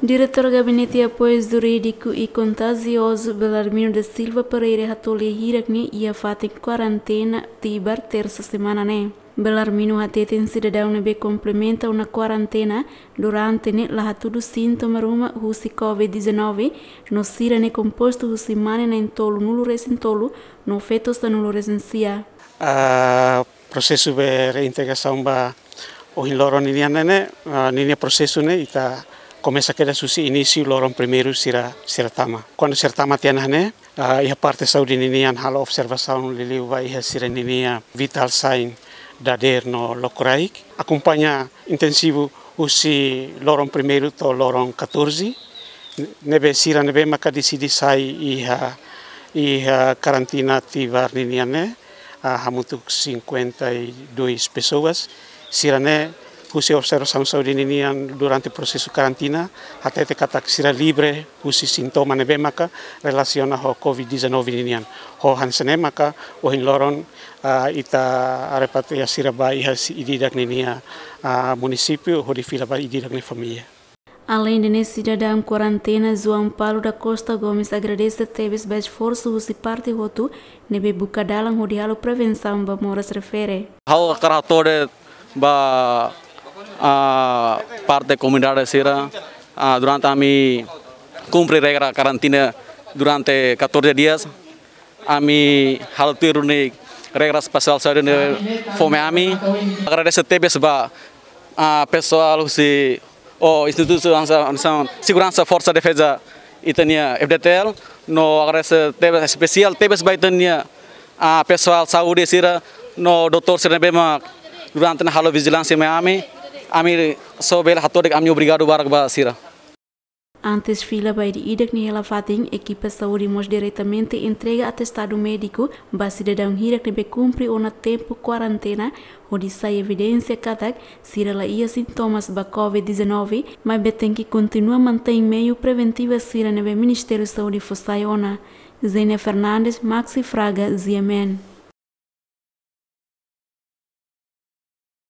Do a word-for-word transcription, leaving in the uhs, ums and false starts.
Diretór Gabinete Apoiu Jurídiku i Kontajiozu Belarmino da Silva Pereira hato'o lia hirak ne'e iha fatin kuarentena tibar tersa semana ne'e. Belarmino hateten sidadaun ne'ebé komplementa ona kuarentena durante ne'e la hatudu sintoma ruma husi covid dezanove, no sira ne'e kompostu husi mane na'in-tolu nulu resin tolu, no feto sanulu resin sia. Ah, prosesu be reintegrasaun ba ohin loron ninian ne'e, ah, ninia prosesu ne'e ita komesa kedas husi inísiu loron primeiru sira, sira tama. Kuandu sira tama tiha ona ne'e, ah, iha parte saúde ninian halo observasaun liuliu ba iha sira ninia vital sign dadeer no lokraik. Akompaña intensivu husi loron primeiru to'o loron katorze. Ne'ebé sira ne'ebé maka deside sai iha, iha karantina tibar ninian ne'e, ah, hamutuk cinquenta e dois pessoas. Sira ne'e husi observasaun saúde ninian durante prosesu karantina, hatete katak sira livre husi sintoma ne'ebé maka relasiona ho covid dezanove ninian. Ho hanesan ne'e maka ohin loron, ah, ita repatriá sira ba iha si ida-idak ninia, ah, munisípiu hodi fila ba ida-idak nia família. Aleinde ne'e, sidadaun kuarentena João Paulo da Costa Gomes agradese tebes ba esforsu husi parte hotu ne'ebé buka dalan hodi halo prevensaun ba moras refere. Ha'u hakarak hato'o de'it ba, ah, parte komunidade sira, ah, durante ami kumpre regra karantina durante katorze dias, ami halo tuir duni regra pesoál saúde ne'ebé fó mai ami. Agradese tebes ba, ah, pesoál husi, ou instituisaun, instituisaun seguransa Forsa Defeza ita-nia F D T L, no agradese tebes, espesiál tebes ba ita-nia, ah, pesoál saúde sira, no doutór sira ne'ebé mak durante ne'e halo vijilánsia mai ami. Ami só bele hato'o de'it ami obrigadu barak ba sira. Antes fila ba ida-idak nia hela fatin, ekipa saúde mós diretamente entrega atestadu médiku ba sidadaun hirak ne'ebé kumpre ona tempu kuarentena, hodi sai evidénsia katak sira la iha sintomas ba covid dezanove, maibé tenke kontinua mantein meiu preventiva sira ne'ebé Ministériu Saúde fó sai ona. Zenia Fernandes, Maxi Fraga, G M N.